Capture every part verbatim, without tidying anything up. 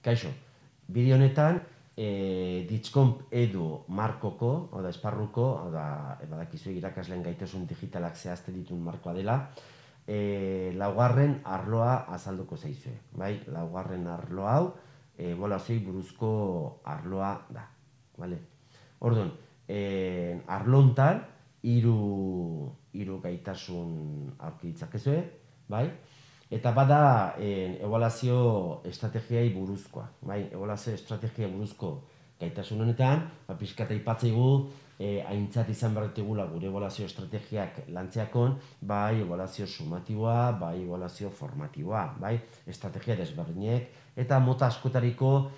Kaixo, bideo honetan Ditscomp edu markoko, oda esparruko, oda badakizu irakasleen gaitasun digitalak zehazten dituen markoa dela, laugarren arloa azalduko zaizue. Bai, laugarren arlo hau ebaluazioei buruzko arloa da. Orduan, arlo hontan hiru hiru gaitasun aurki ditzakezue, bai? Eta bada ebaluazio estrategiai buruzkoa, bai? Ebaluazio estrategia buruzko gaitasun honetan, pixka eta aipatzaigu aintzat izan behar ditugula gure ebaluazio estrategiak lantzeakon, bai ebaluazio sumatiboa, bai ebaluazio formatiboa, bai? Estrategia desberdinek, eta mota askotariko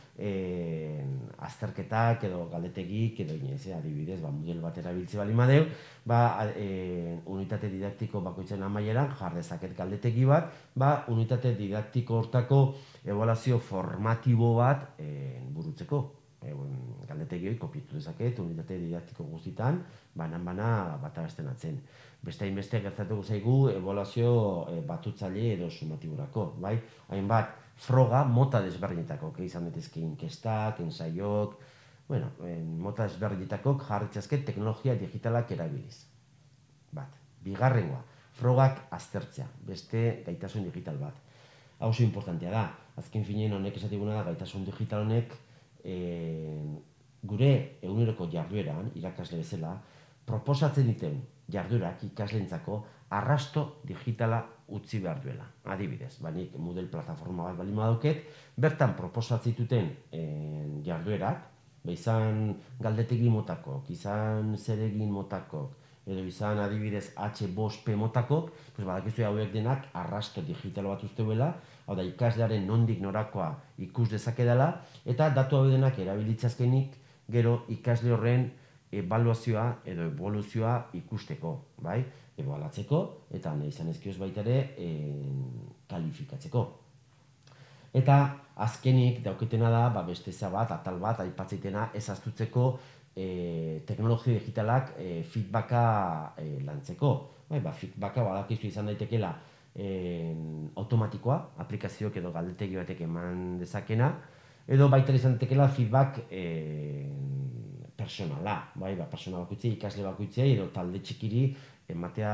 azterketak edo galdetegik edo inez, adibidez, model bat erabiltze bali madeu, unitate didaktiko bakoitzen amaieran jar dezaket galdetegi bat, unitate didaktiko hortako ebaluazio formatibo bat burutzeko. Galdetegi hori kopiatu dezaket, unitate didaktiko guztitan, banan-bana bat abesten atzen. Beste hainbeste gertatuko zaigu ebaluazio batutzaile edo sumatiborako, bai? Hainbat, froga mota desberdinetako, izan daitezke inkestak, ensaiok, bueno, mota desberdinetako jarritzazke teknologia digitalak erabiliz. Bat, bigarrengoa, frogak aztertzea, beste gaitasun digital bat. Hau oso importantea da, azken finean honek esatiguna da gaitasun digital honek gure eguneroko jardueran, irakasle bezala, proposatzen diten jarduerak ikasleentzako arrasto digitala utzi behar duela. Adibidez, nik Moodle plataforma bat bali madauket, bertan proposatzen dituten jarduerak, izan galdetegi motakok, izan zeregin motakok, edo izan adibidez H bost P motakok, badakizu hauek denak arrasto digital bat usteuela, hau da ikaslearen nondik norakoa ikus dezakedala, eta datu hau denak erabilitzazkenik gero ikasle horren ebaluazioa edo evoluzioa ikusteko, bai? Ebaluatzeko, eta nahi izan ezkioz baita ere kalifikatzeko. Eta azkenik dauketena da, beste bat, atal bat, aipatzeitena ez astutzeko teknologia digitalak feedbacka lantzeko. Feedbacka badakizu izan daitekela automatikoa, aplikazioak edo galdetegi batek eman dezakena, edo baita izan daitekela feedback personala, persona bakoitzei, ikasle bakoitzei, edo talde txikiri ematea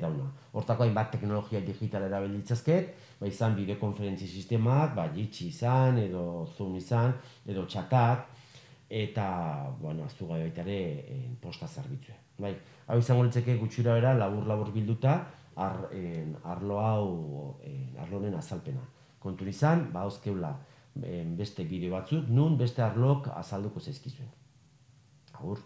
dauna. Hortako hainbat teknologia digital erabilitzazket, izan bideokonferentzi sistemak, Jitsi izan, edo Zoom izan, edo txatak, eta, bueno, aztu gai baita ere posta zerbitzue. Hau izango litzeke gutxura bera, labur-labur bilduta, arlo hau, arlo honen azalpena. Kontun izan, ba, hauzkeula beste bideo batzuk, nun beste arlok azalduko zaizkizuen. Agur.